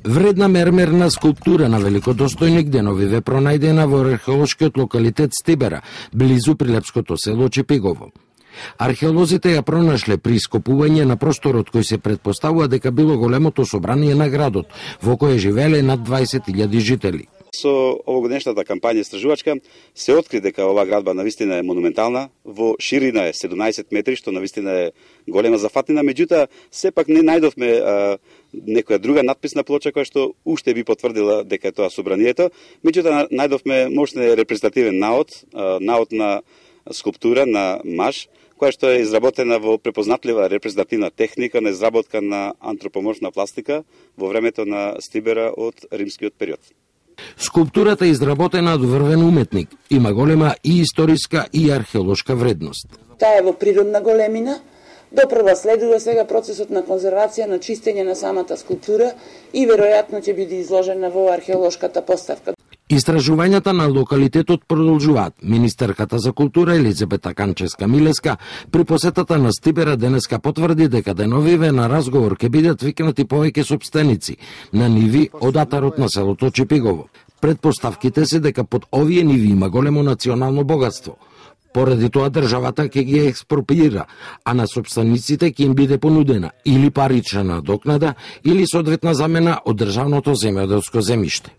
Вредна мермерна скулптура на великодостојник деновиве пронајдена во археолошкиот локалитет Стибера, близу прилепското село Чепигово. Археолозите ја пронашле при ископување на просторот кој се претпоставува дека било големото собрание на градот, во кое живееле над 20.000 жители. Со овогодишната кампања истражувачка се откри дека оваа градба навистина е монументална, во ширина е 17 метри, што навистина е голема зафатнина, меѓутоа сепак не најдовме некоја друга надписна плоча која што уште би потврдила дека е тоа собранието, меѓутоа најдовме мощен репрезентативен наод на скулптура на маж, која што е изработена во препознатлива репрезентативна техника на изработка на антропоморфна пластика во времето на Стибера од римскиот период. Скулптурата е изработена од врвен уметник, има голема и историска и археолошка вредност. Таа е во природна големина, допрва следува сега процесот на конзервација, на чистење на самата скулптура и веројатно ќе биде изложена во археолошката поставка. Истражувањата на локалитетот продолжуваат. Министерката за култура Елизабета Канческа-Милеска при посетата на Стибера денеска потврди дека деновиве на разговор ќе бидат викнати повеќе сопственици на ниви од атарот на селото Чепигово. Предпоставките се дека под овие ниви има големо национално богатство. Поради тоа државата ќе ги експроприира, а на сопствениците ќе им биде понудена или парична надокнада или соодветна замена од државното земјоделско земјиште.